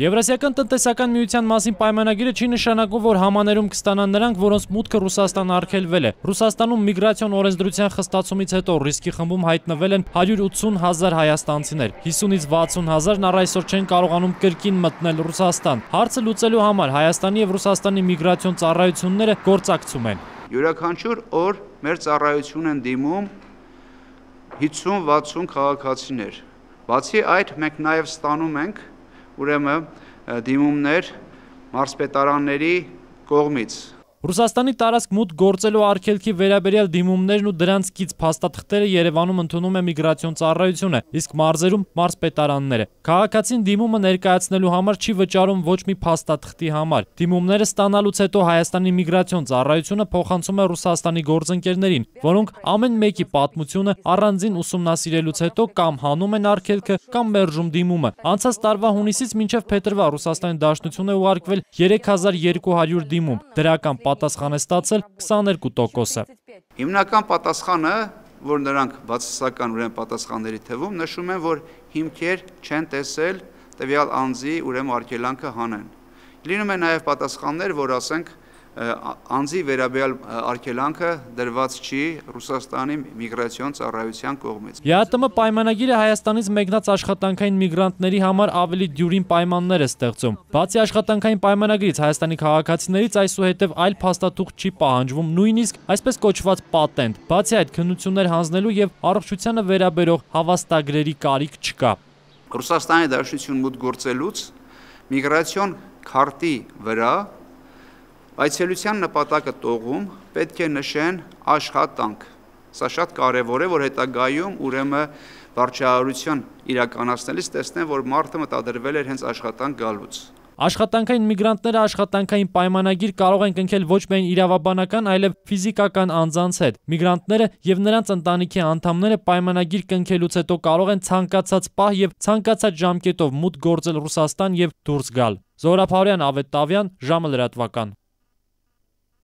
Եվրասիական տնտեսական միության մասին պայմանագիրը չի նշանակում, որ համաներում կստանան նրանք, որոնց մուտքը Ռուսաստան արգելվել է։ Ռուսաստանում միգրացիոն օրենսդրության խստացումից հետո ռիսկի խմբում հայտնվել են 180,000 հայաստանցիներ, 50-ից 60,000-ն առ այսօր չեն կարողանում կրկին մտնել Ռուսաստան։ Հարցը լուծելու համար Հայաստանի եւ Ռուսաստանի միգրացիոն ծառայությունները գործակցում են։ Յուրաքանչյուր օր մեր ծառայություն են դիմում 50-60 քաղաքացիներ։ Բացի այդ, մենք նաև ստանում ենք ուրեմն դիմումներ մարզպետարանների կողմից։ Ռուսաստանի տարածք մուտք գործելու արգելքի վերաբերյալ դիմումներն ու դրանցից փաստաթղթերը Երևանում ընդունում է միգրացիոն ծառայությունը, իսկ մարզերում մարզպետարանները։ Քաղաքացին դիմումը ներկայացնելու համար չի վճարում ոչ մի փաստաթղթի համար։ Դիմումները ստանալուց հետո Հայաստանի միգրացիոն ծառայությունը փոխանցում է Ռուսաստանի գործընկերներին, որոնք ամեն մեկի պատմությունը առանձին ուսումնասիրելուց հետո կամ հանում են արգելքը, կամ մերժում դիմումը։ Անցած տարվա հունիսից մինչև փետրվար Ռուսաստանի Դաշնություն է ուղարկվել 3200 դիմում։ Դրական պատասխան է ստացել 22%-ը։ Հիմնական պատասխանը, որ նրանք բացասական ուրեմն պատասխանների թվում նշում են, որ հիմքեր չեն տեսել տվյալ անձի ուրեմն արգելանքը հանեն։ Լինում է նաև պատասխաններ, որ ասենք անձի վերաբերյալ արգելանքը դրված չի Ռուսաստանի միգրացիոն ծառայության կողմից։ ԵԱՏՄ պայմանագիրը Հայաստանից մեկնած աշխատանքային միգրանտների համար ավելի դյուրին պայմաններ է ստեղծում։ Բացի աշխատանքային պայմանագրից Հայաստանի քաղաքացիներից այսուհետև այլ փաստաթուղթ չի պահանջվում, նույնիսկ այսպես կոչված պատենտ։ Բացի այդ, քննություններ հանձնելու եւ առողջությանը վերաբերող հավաստագրերի կարիք չկա։ Ռուսաստանի Դաշնություն մուտք գործելուց միգրացիոն քարտի վրա այցելության նպատակը տողում պետք է նշեն աշխատանք։ Սա շատ կարևոր է, որ հետագայում ուրեմն վարչահարություն իրականացնելիս տեսնեն, որ մարդը մտադրվել էր հենց աշխատանք գալուց։ Աշխատանքային միգրանտները աշխատանքային պայմանագիր կարող են կնքել ոչ միայն իրավաբանական, այլև ֆիզիկական անձանց հետ։ Միգրանտները եւ նրանց ընտանիքի անդամները պայմանագիր կնքելուց հետո կարող են ցանկացած պահ եւ ցանկացած ժամկետով մուտք գործել Ռուսաստան եւ դուրս գալ։ Զորապ Հարոյան, Ավետ Տավյան, ժամը լրատվական։